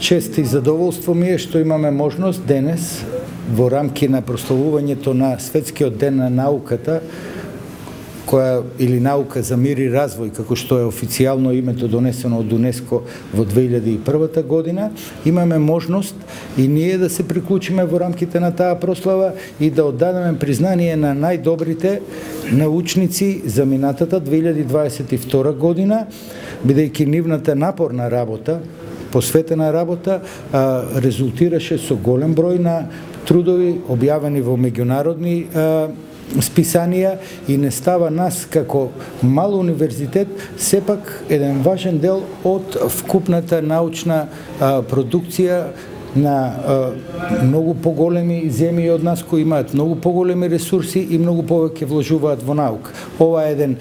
Чест и задоволство ми е што имаме можност денес во рамки на прославувањето на Светскиот ден на науката, која или наука за мир и развој, како што е официјално името донесено од УНЕСКО во 2001 година, имаме можност и ние да се приклучиме во рамките на таа прослава и да оддадеме признание на најдобрите научници за минатата 2022 година, бидејќи нивната напорна работа, посветена работа, резултираше со голем број на трудови објавени во меѓународни списанија и не става нас како мал универзитет сепак еден важен дел од вкупната научна продукција на многу поголеми земји од нас кои имаат многу поголеми ресурси и многу повеќе вложуваат во наука. Ова е еден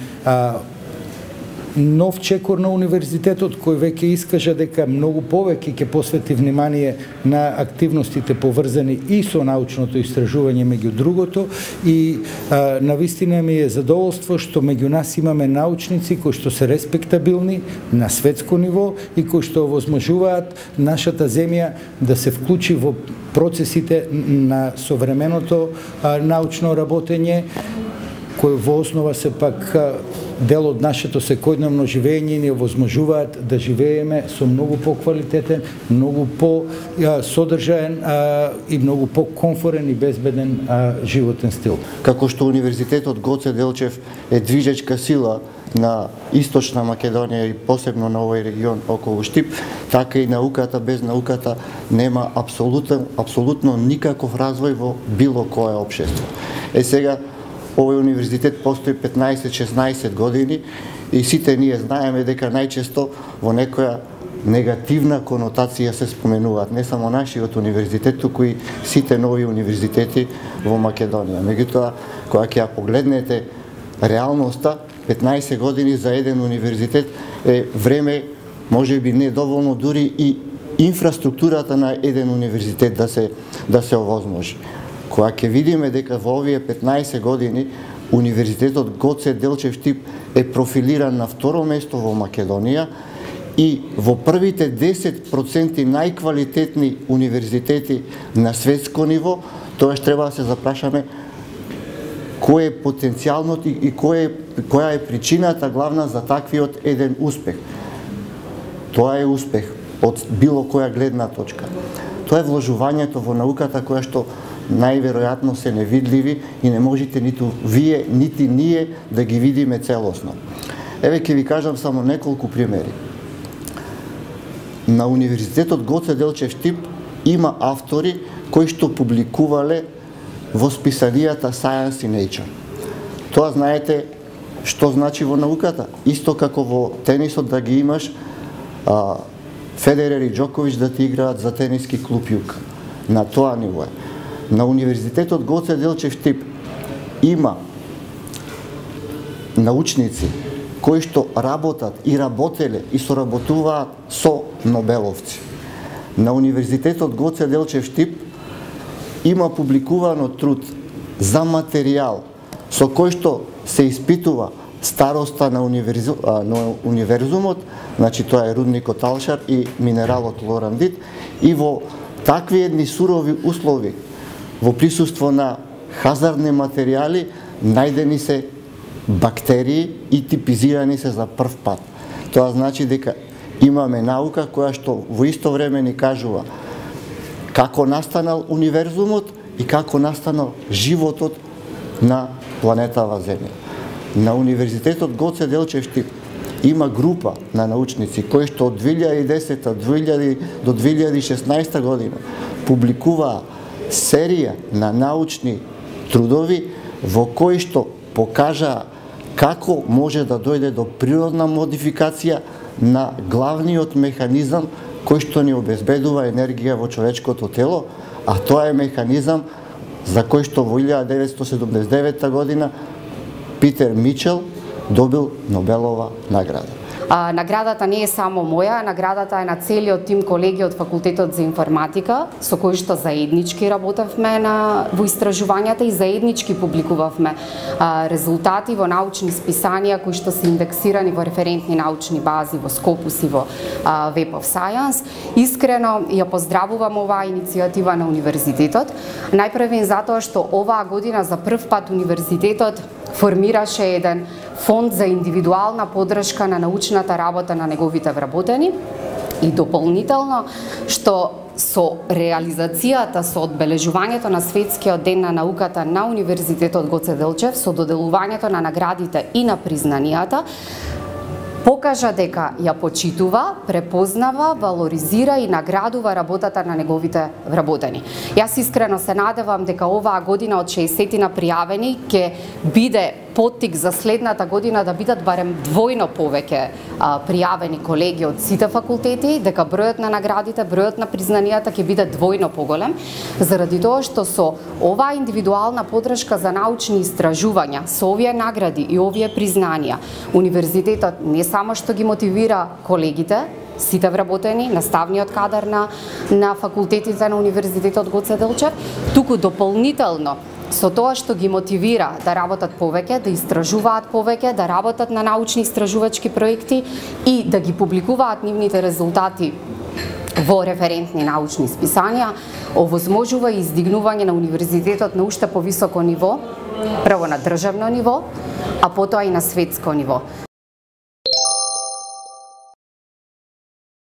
нов чекор на универзитетот кој веќе искажа дека многу повеќе ќе посвети внимание на активностите поврзани и со научното истражување меѓу другото и навистина ми е задоволство што меѓу нас имаме научници кои што се респектабилни на светско ниво и кои што овозможуваат нашата земја да се вклучи во процесите на современото научно работење кој во основа се пак дел од нашето секојдневно живење и ни овозможуваат да живееме со многу поквалитетен, многу по-содржаен и многу по-комфорен и безбеден животен стил. Како што Универзитетот Гоце Делчев е движечка сила на Источна Македонија и посебно на овој регион околу Штип, така и науката без науката нема апсолутно никаков развој во било кое општество. Сега овој универзитет постои 15-16 години и сите ние знаеме дека најчесто во некоја негативна конотација се споменуваат не само нашиот универзитет, туку и сите нови универзитети во Македонија. Меѓутоа, кога ќе ја погледнете реалноста, 15 години за еден универзитет е време, можеби недоволно дури и инфраструктурата на еден универзитет да се овозможи. Кога ќе видиме дека во овие 15 години Универзитетот Гоце Делчев Штип е профилиран на второ место во Македонија и во првите 10% најквалитетни универзитети на светско ниво, тоаш треба да се запрашаме кој е потенцијалното и која е причината главна за таквиот еден успех. Тоа е успех од било која гледна точка. Тоа е вложувањето во науката која што најверојатно се невидливи и не можете ниту вие, нити ние да ги видиме целосно. Еве ќе ви кажам само неколку примери. На Универзитетот Гоце Делчев Штип има автори кои што публикувале во списанијата Science и Nature. Тоа знаете што значи во науката. Исто како во тенисот да ги имаш Федерер и Џоковиќ да ти играат за тениски клуб Јук. На тоа ниво е. На Универзитетот Гоце Делчев Штип има научници кои што работат и работеле и соработуваат со нобеловци. На Универзитетот Гоце Делчев Штип има публикувано труд за материјал со кој што се испитува староста на универзумот, значи тоа е рудникот Алшар и минералот лорандит, и во такви едни сурови услови, во присуство на хазардни материјали, најдени се бактерии и типизирани се за прв пат. Тоа значи дека имаме наука која што во исто време ни кажува како настанал универзумот и како настанал животот на планетава Земја. На Универзитетот Гоце Делчев Штип има група на научници кои што од 2010 до 2016 година публикуваа серија на научни трудови во кои што покажаа како може да дојде до природна модификација на главниот механизам кој што ни обезбедува енергија во човечкото тело, а тоа е механизам за кој што во 1979 година Питер Мичел добил Нобелова награда. Наградата не е само моја, наградата е на целиот тим колеги од Факултетот за информатика, со кои што заеднички работевме во истражувањата и заеднички публикувавме резултати во научни списанија кои што се индексирани во референтни научни бази во Scopus и во Web of Science. Искрено ја поздравувам оваа иницијатива на универзитетот. Најпрвен затоа што оваа година за прв пат универзитетот формираше еден фонд за индивидуална поддршка на научната работа на неговите вработени и дополнително што со реализацијата, со одбележувањето на Светскиот ден на науката на Универзитетот Гоце Делчев, со доделувањето на наградите и на признанијата, покажа дека ја почитува, препознава, валоризира и наградува работата на неговите вработени. Јас искрено се надевам дека оваа година од 60 пријавени ќе биде поттик за следната година да бидат барем двојно повеќе пријавени колеги од сите факултети, дека бројот на наградите, бројот на признанијата ќе биде двојно поголем, заради тоа што со оваа индивидуална поддршка за научни истражувања, со овие награди и овие признанија, универзитетот не само што ги мотивира колегите, сите вработени, наставниот кадар на факултетите на Универзитетот Гоце Делчев, туку дополнително со тоа што ги мотивира да работат повеќе, да истражуваат повеќе, да работат на научни истражувачки проекти и да ги публикуваат нивните резултати во референтни научни списанија, овозможува и издигнување на универзитетот на уште повисоко ниво, прво на државно ниво, а потоа и на светско ниво.